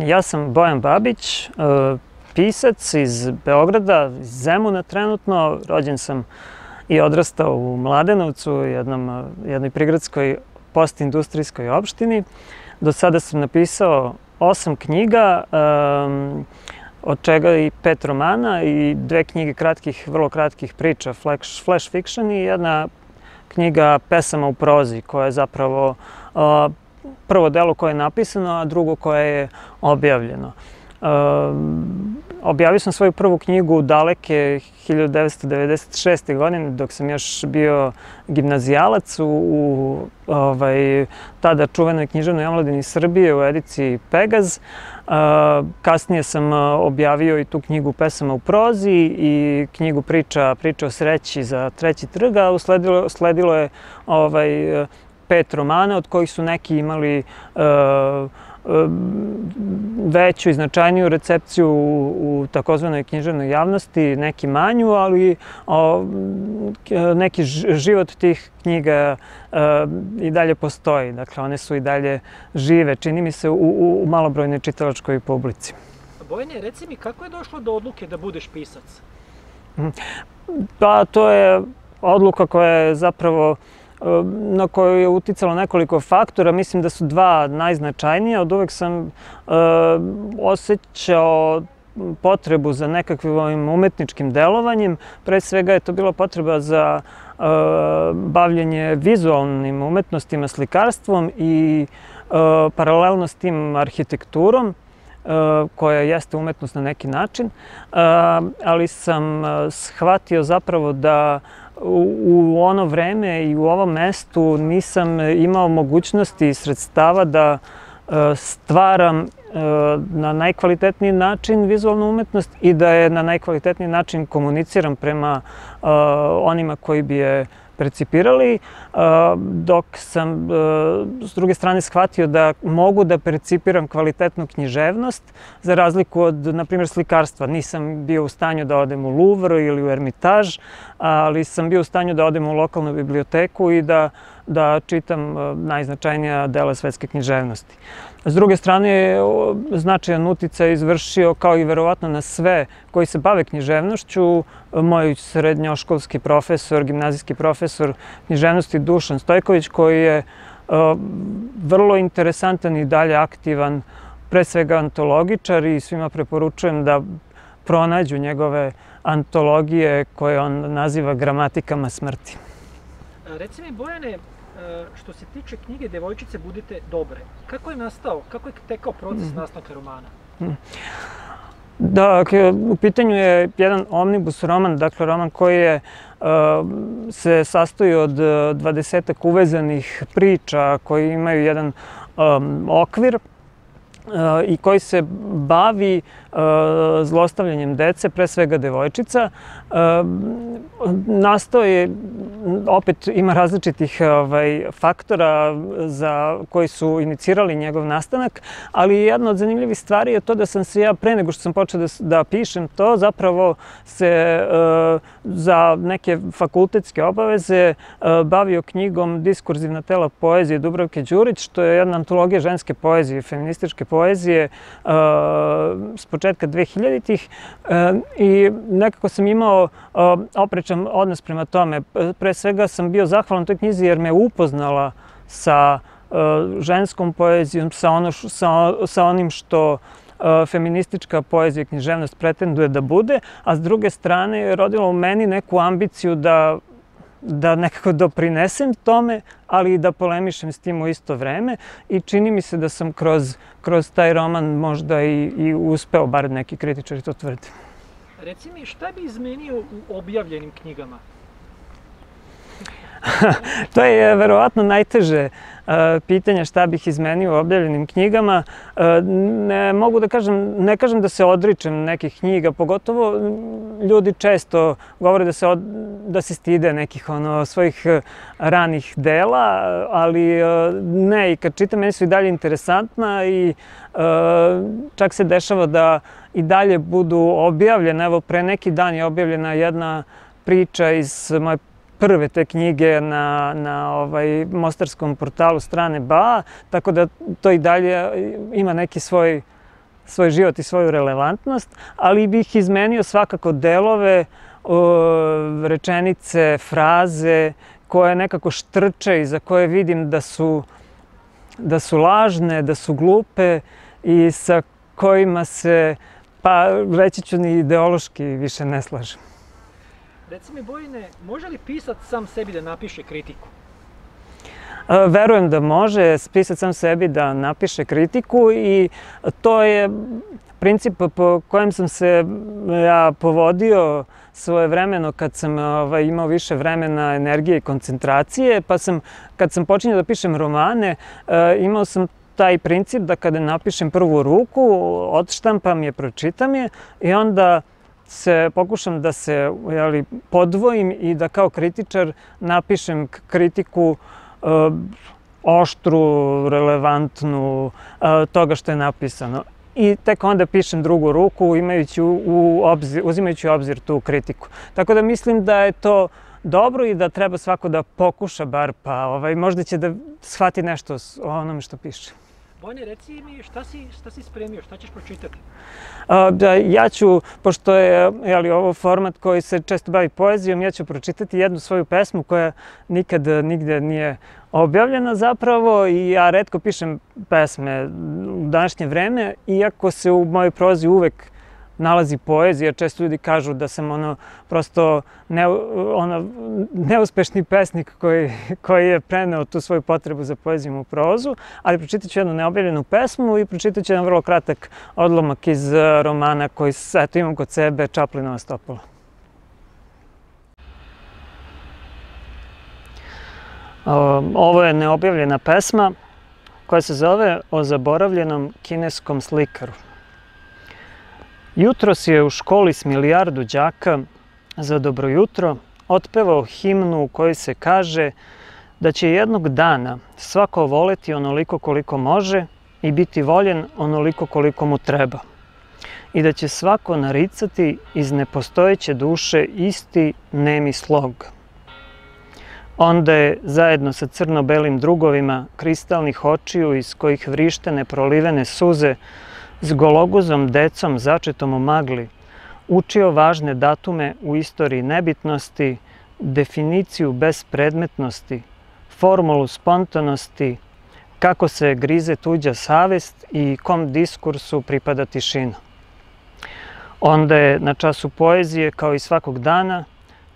Ja sam Bojan Babić, pisac iz Beograda, iz Zemuna trenutno. Rođen sam i odrastao u Mladenovcu, jednoj prigradskoj postindustrijskoj opštini. Do sada sam napisao 8 knjiga, od čega i 5 romana i 2 knjige vrlo kratkih priča, flash fiction, i jedna knjiga pesama u prozi, koja je zapravo prvo delo koje je napisano, a drugo koje je objavljeno. Objavio sam svoju prvu knjigu daleke 1996. godine, dok sam još bio gimnazijalac u tada čuvenoj književnoj omladini Srbije u ediciji Pegaz. Kasnije sam objavio i tu knjigu pesama u prozi i knjigu priča o sreći za Treći trg, a usledilo je 5 romana, od kojih su neki imali veću i značajniju recepciju u takozvanoj književnoj javnosti, neki manju, ali neki život tih knjiga i dalje postoji. Dakle, one su i dalje žive, čini mi se, u malobrojnoj čitalačkoj publici. Bojane, reci mi, kako je došlo do odluke da budeš pisac? Pa, to je odluka koja je zapravo na koju je uticalo nekoliko faktora. Mislim da su 2 najznačajnija. Od uvek sam osjećao potrebu za nekakvim umetničkim delovanjem. Pre svega je to bila potreba za bavljenje vizualnim umetnostima, slikarstvom i paralelno s tim arhitekturom, koja jeste umetnost na neki način, ali sam shvatio zapravo da u ono vreme i u ovom mestu nisam imao mogućnosti i sredstava da stvaram na najkvalitetniji način vizualnu umetnost i da je na najkvalitetniji način komuniciram prema onima koji bi je percipirali, dok sam s druge strane shvatio da mogu da percipiram kvalitetnu književnost, za razliku od, na primjer, slikarstva. Nisam bio u stanju da odem u Louvre ili u Ermitaž, ali sam bio u stanju da odem u lokalnu biblioteku i da čitam najznačajnija dela svetske književnosti. S druge strane, značajan uticaj izvršio, kao i verovatno na sve koji se bave književnošću, moj srednjoškolski profesor, gimnazijski profesor književnosti Dušan Stojković, koji je vrlo interesantan i dalje aktivan, pre svega antologičar, i svima preporučujem da pronađu njegove antologije koje on naziva gramatikama smrti. Reci mi, Bojane, što se tiče knjige Devojčice budite dobre, kako je tekao proces nastanka romana? Dakle, u pitanju je jedan omnibus roman, dakle roman koji se sastoji od 20-ak uvezanih priča koji imaju jedan okvir i koji se bavi zlostavljanjem dece, pre svega devojčica. Nastao je, opet ima različitih faktora koji su inicirali njegov nastanak, ali jedna od zanimljivih stvari je to da sam se ja, pre nego što sam počeo da pišem to, zapravo se za neke fakultetske obaveze bavio knjigom Diskurzivna tela poezije Dubravke Đurić, što je jedna antologija ženske poezije, feminističke poezije s početka 2000-ih, i nekako sam imao oprečan odnos prema tome. Pre svega sam bio zahvalan toj knjizi jer me upoznala sa ženskom poezijom, sa onim što feministička poezija i književnost pretenduje da bude, a s druge strane je rodila u meni neku ambiciju da nekako doprinesem tome, ali i da polemišem s tim u isto vreme, i čini mi se da sam kroz taj roman možda i uspeo, bar neki kritičari to tvrde. Reci mi, šta bi izmenio u objavljenim knjigama? To je verovatno najteže pitanje, šta bih izmenio u objavljenim knjigama. Ne kažem da se odričem nekih knjiga, pogotovo ljudi često govore da se stide nekih svojih ranih dela, ali ne, i kad čitam, meni su i dalje interesantna i čak se dešava da i dalje budu objavljene. Evo, pre neki dan je objavljena jedna priča iz moje prve te knjige na mostarskom portalu Strane BA, tako da to i dalje ima neki svoj svoj život i svoju relevantnost, ali bih izmenio svakako delove, rečenice, fraze koje nekako štrče i za koje vidim da su lažne, da su glupe i sa kojima se, pa reći ću, ni ideološki više ne slažem. Reci mi, Bojane, može li pisac sam sebi da napiše kritiku? Verujem da može pisac sam sebi da napiše kritiku i to je princip po kojem sam se ja povodio svojevremeno kad sam imao više vremena, energije i koncentracije, pa kad sam počinjao da pišem romane, imao sam taj princip da kada napišem prvu ruku, odštampam je, pročitam je i onda pokušam da se podvojim i da kao kritičar napišem kritiku oštru, relevantnu, toga što je napisano. I tek onda pišem drugu ruku uzimajući u obzir tu kritiku. Tako da mislim da je to dobro i da treba svako da pokuša bar, pa možda će da shvati nešto o onome što piše. Bojane, reci mi šta si spremio, šta ćeš pročitati? Ja ću, pošto je ovo format koji se često bavi poezijom, ja ću pročitati jednu svoju pesmu koja nikad nigde nije objavljena zapravo i ja retko pišem pesme u današnje vreme, iako se u mojoj prozi uvek nalazi poezija. Često ljudi kažu da sam prosto neuspešni pesnik koji je preneo tu svoju potrebu za poezijom u prozu, ali pročitat ću jednu neobjavljenu pesmu i pročitat ću jedan vrlo kratak odlomak iz romana koji imam kod sebe, Čaplinova stopala. Ovo je neobjavljena pesma koja se zove O zaboravljenom kineskom slikaru. Jutros je u školi s milijardu đaka za dobro jutro otpevao himnu u kojoj se kaže da će jednog dana svako voleti onoliko koliko može i biti voljen onoliko koliko mu treba. I da će svako naricati iz nepostojeće duše isti nemi slog. Onda je, zajedno sa crno-belim drugovima kristalnih očiju iz kojih vrište neprolivene suze, s gologuzom decom začetom u magli, učio važne datume u istoriji nebitnosti, definiciju bespredmetnosti, formulu spontanosti, kako se grize tuđa savest i kom diskursu pripada tišina. Onda je na času poezije, kao i svakog dana,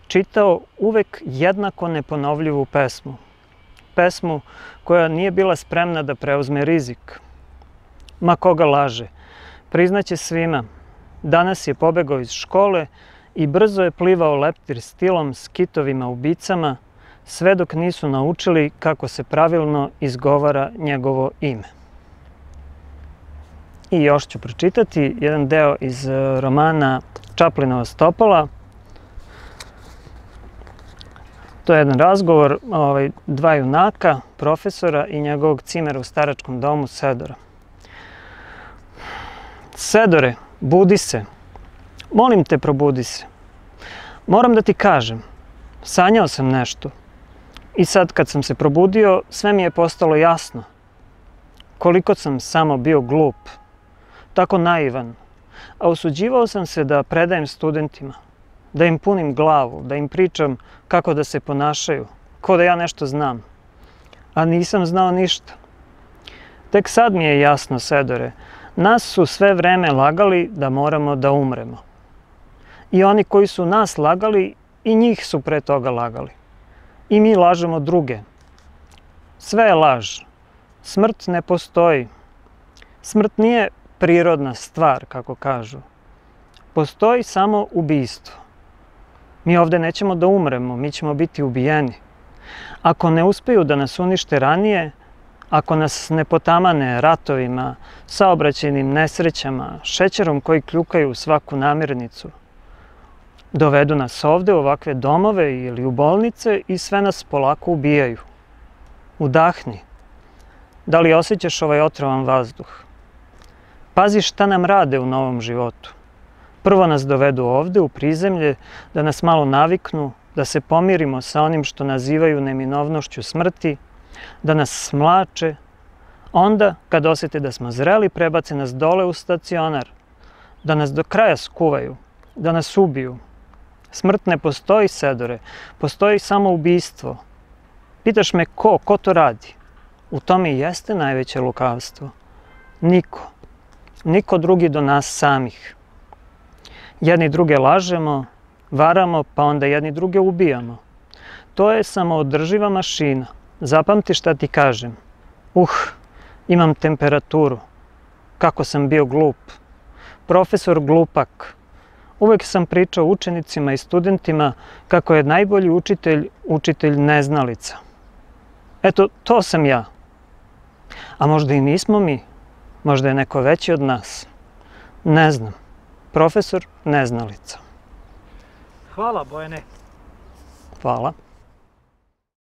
čitao uvek jednako neponovljivu pesmu. Pesmu koja nije bila spremna da preuzme rizik. Ma koga laže, priznaće svima. Danas je pobegao iz škole i brzo je plivao leptir stilom s kitovima ubicama, sve dok nisu naučili kako se pravilno izgovara njegovo ime. I još ću pročitati jedan deo iz romana Čaplinova stopala. To je jedan razgovor dva junaka, profesora i njegovog cimera u staračkom domu Sedora. Sedore, budi se. Molim te, probudi se. Moram da ti kažem, sanjao sam nešto. I sad kad sam se probudio, sve mi je postalo jasno. Koliko sam samo bio glup, tako naivan, a osuđivao sam se da predajem studentima, da im punim glavu, da im pričam kako da se ponašaju, kao da ja nešto znam. A nisam znao ništa. Tek sad mi je jasno, Sedore, nas su sve vreme lagali da moramo da umremo. I oni koji su nas lagali, i njih su pre toga lagali. I mi lažemo druge. Sve je laž. Smrt ne postoji. Smrt nije prirodna stvar, kako kažu. Postoji samo ubijstvo. Mi ovde nećemo da umremo, mi ćemo biti ubijeni. Ako ne uspeju da nas unište ranije, ako nas ne potamane ratovima, saobraćajnim nesrećama, šećerom koji kljukaju svaku namirnicu, dovedu nas ovde u ovakve domove ili u bolnice i sve nas polako ubijaju. Udahni. Da li osjećaš ovaj otrovan vazduh? Pazi šta nam rade u novom životu. Prvo nas dovedu ovde u prizemlje, da nas malo naviknu, da se pomirimo sa onim što nazivaju neminovnošću smrti, da nas smlače, Onda, kad osjete da smo zreli, prebace nas dole u stacionar, da nas do kraja skuvaju, da nas ubiju. Smrt ne postoji, Sedore, postoji samo ubistvo. Pitaš me ko to radi? U tome i jeste najveće lukavstvo. Niko. Niko drugi do nas samih. Jedni druge lažemo, varamo, pa onda jedni druge ubijamo. To je samoodrživa mašina. Zapamti šta ti kažem. Imam temperaturu. Kako sam bio glup. Profesor glupak. Uvek sam pričao učenicima i studentima kako je najbolji učitelj, učitelj neznalica. Eto, to sam ja. A možda i nismo mi. Možda je neko veći od nas. Ne znam. Profesor neznalica. Hvala, Bojane. Hvala.